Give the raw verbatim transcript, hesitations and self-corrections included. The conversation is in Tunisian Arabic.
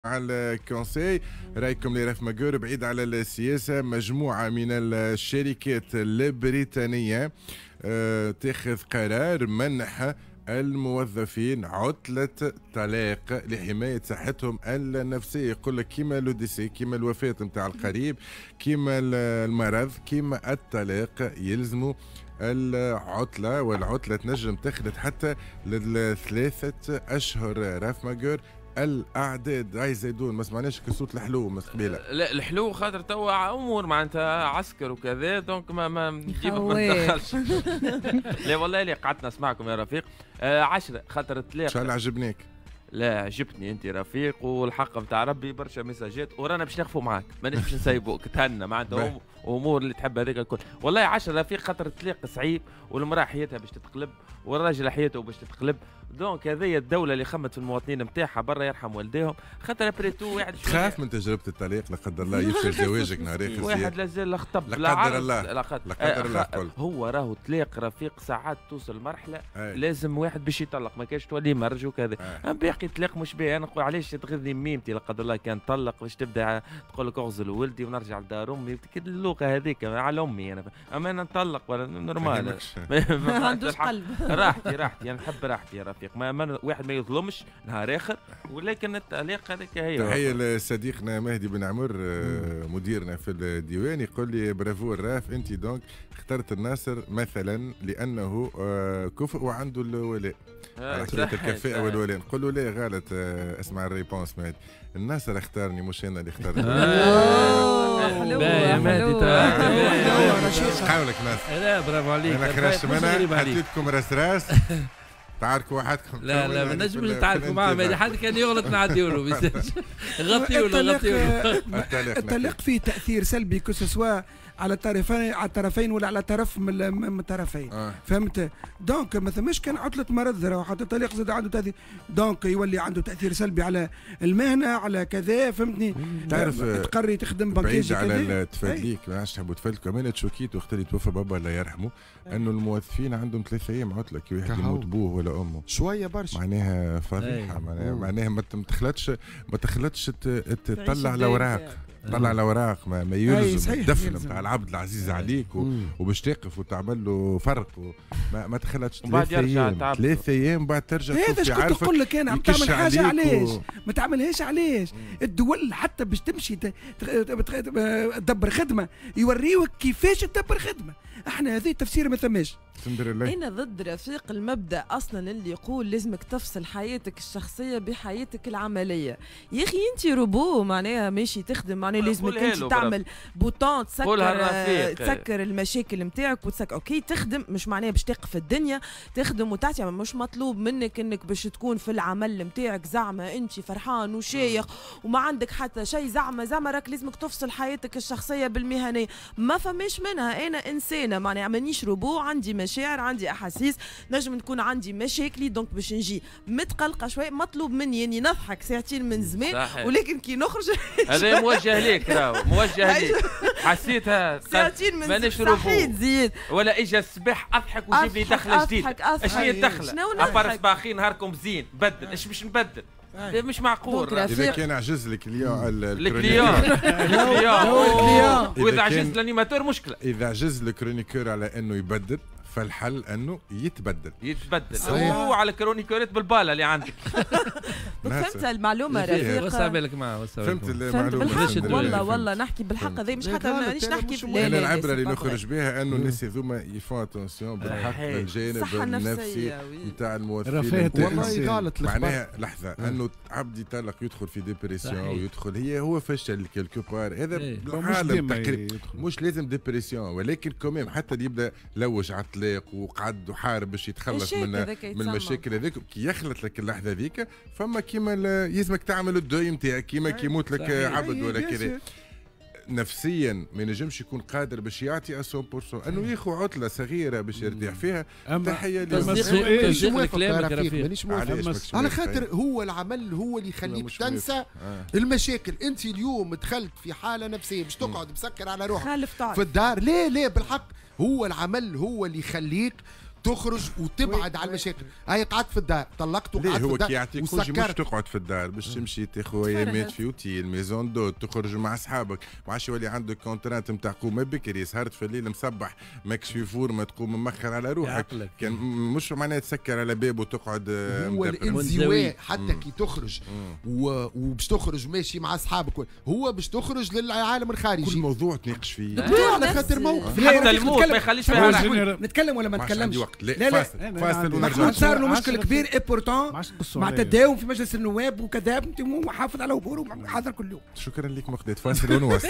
على ال conseil رايكم لرف ماجور بعيد على السياسة. مجموعة من الشركات البريطانية آه، تاخذ قرار منح الموظفين عطلة طلاق لحماية صحتهم النفسية. يقول لك كيما le décès، كيما الوفاة نتاع القريب، كيما المرض، كيما الطلاق، يلزموا العطلة، والعطلة تنجم تخلط حتى لثلاثة أشهر. راف ماجور الاعداد هاي زيدون ما سمعناش كصوت الحلو من قبيلة. لا الحلو خاطر توا امور معناتها عسكر وكذا، donc ما ما ديما ما ندخلش. لا والله اللي قعدت نسمعكم يا رفيق. آه عشرة خاطر الطلاق. ان شاء الله عجبناك. لا عجبتني انت رفيق، والحق نتاع ربي برشا messages ورانا باش نخفوا معاك، ماناش باش نسيبوك، تهنى معناتها امور اللي تحب هذيك الكل. والله عشرة رفيق خاطر الطلاق صعيب، والمراة حياتها باش تتقلب والراجل حياته باش تتقلب، donc هذه الدولة اللي خمت في المواطنين نتاعها برا يرحم والديهم، خاطر après tout واحد تخاف من تجربه الطلاق لا قدر الله يفشل زواجك نهار اخر، واحد لازال خطب لا قدر الله لا قدر الله. هو راهو طلاق رفيق ساعات توصل مرحلة لازم واحد باش يطلق، ما كانش تولي مرج وكذا. باقي طلاق مش باهي. انا نقول علاش تغذني ميمتي لا قدر الله كان طلق باش تبدا تقول لك اغزل ولدي ونرجع لدار امي، اللغة هذيك على امي انا، اما انا نطلق ولا normal ما عندوش قلب. راحتي راحتي انا نحب راحتي يا رفيق، ما, ما واحد ما يظلمش نهار اخر، ولكن التعليق هذاك هي. تحية لصديقنا مهدي بن عمر مديرنا في الديوان، يقول لي برافو الراف انت donc اخترت الناصر مثلا لانه كفء وعنده الولاء، على حكاية الكفاءة والولاء. نقول له لا غلط، اسمع ال réponse مهدي، الناصر اختارني مش انا اللي اخترت. حلوة اش قولك ناصر؟ لا برافو عليك. انا خرجت منها حطيتكم راس راس تعاركوا وحدكم. لا لا ما نجمش نتعاركوا معاه، حد كان يغلط نعديو له، غطيو له غطيو له. الطلاق فيه تاثير سلبي que ce soit على الطرفين، على الطرفين ولا على طرف من الطرفين. آه. فهمت؟ donc ما ثماش كان عطلة مرض، حتى الطلاق زاد عنده تاثير، donc يولي عنده تاثير سلبي على المهنة على كذا، فهمتني؟ تعرف تقري تخدم بنكيجي بعيد على التفادليك، ما عادش تحبوا تفادلكوا. انا تشوكيت وقت اللي توفى بابا الله يرحمه، انه الموظفين عندهم ثلاث ايام عطله كي واحد يموت بوه ولا امه، شوية برشا معناها فضيحة، معناها معناها ما تخلطش ما تخلطش تطلع الاوراق، طلع الاوراق ما, ما يلزم الدفن نتاع العبد العزيز عليك و... وباش تقف وتعمل له فرق و... ما, ما تخلطش ثلاث ايام، ثلاث ايام بعد ترجع. هذا اش كنت نقول لك انا، عم تعمل حاجة علاش و... ما تعملهاش علاش؟ الدول حتى باش تمشي ت... تدبر خدمة يوريوك كيفاش تدبر خدمة، احنا هذا التفسير ما ثماش. انا ضد رفيق المبدا اصلا اللي يقول لازمك تفصل حياتك الشخصية بحياتك العملية. يا اخي انت روبو معناها ماشي تخدم، معناها لازمك انت تعمل bouton تسكر تسكر المشاكل نتاعك وتسكر، OK تخدم مش معناها باش تقف الدنيا، تخدم وتعطي، مش مطلوب منك انك باش تكون في العمل نتاعك زعما انت فرحان وشايخ وما عندك حتى شيء، زعما زعما راك لازمك تفصل حياتك الشخصية بالمهنيه، ما فماش منها. انا انسانه معناها مانيش روبو، عندي مشاعر، عندي احاسيس، نجم نكون عندي مشاكلي، donc باش نجي متقلقه شوية مطلوب مني اني نضحك ساعتين من زمان، ولكن كي نخرج هذا موجه ليك، راهو موجه ليك، حسيتها ساعتين من صحيت زيد ولا اجا الصباح اضحك وجيب لي دخله جديدة. اش هي الدخلة؟ à part صباحين نهاركم زين، بدل اش باش نبدل؟ مش معقول. اذا كان عجز ال client ال client ال client واذا عجز ال animateur مشكلة. اذا عجز ال chroniqueur على انه يبدل، فالحل انه يتبدل يتبدل وعلى chroniqueur ات بالباله اللي عندك. فهمت المعلومة رفيق؟ وسع بالك معاه، وسع فهمت المعلومة. والله والله نحكي بالحق هذا، مش حتى مانيش نحكي. انا العبرة اللي نخرج بها انه الناس هذوما ils font attention بالحق للجانب النفسي نتاع الموظفين. والله غلط معناها لحظة انه عبد يطلق يدخل في dépression ويدخل هي هو فشل quelque part، هذا بالعالم تقريبا مش لازم dépression، ولكن quand même حتى اللي يبدا لوج على الطلاق وقعد وحارب باش يتخلص من من المشاكل هذيك، كي يخلط لك اللحظة هذيك فما كيما يلزمك تعمل ال deuil نتاعك، كيما كي يموت لك عبد ولا كذا. نفسيا ما ينجمش يكون قادر باش يعطي مية بالمية، انه ياخذ عطله صغيرة باش يرتاح فيها. تحية تصديق كلامك رفيق، على خاطر هو العمل هو اللي يخليك تنسى آه. المشاكل. انت اليوم دخلت في حاله نفسية باش تقعد مسكر على روحك في الدار، لا لا بالحق هو العمل هو اللي يخليك تخرج وتبعد على المشاكل. هاي قعدت في الدار، طلقت وقعدت في الدار. هو كي يعطيك congé مش تقعد في الدار، باش تمشي تاخذ ايامات في hôtel maison d'hôte، تخرج مع اصحابك، ما عادش يولي عندك contrainte نتاع قوم بكري، سهرت في الليل مصبح ماكش في forme، تقوم مخر على روحك. كان مش معناها تسكر على باب وتقعد. هو الانزواء حتى كي تخرج وباش تخرج ماشي مع اصحابك، هو باش تخرج للعالم الخارجي. كل موضوع تناقش فيه على خاطر موقف حتى الموت ما يخليش فيها. نتكلم ولا ما نتكلمش؟ لا لا فاصل فاصل ونرجع. صار له مشكل كبير et pourtant مع تداوم في مجلس النواب وكذا، وحافظ على اموره وحاضر كل يوم. شكرا لك مقداد. فاصل ونواصل.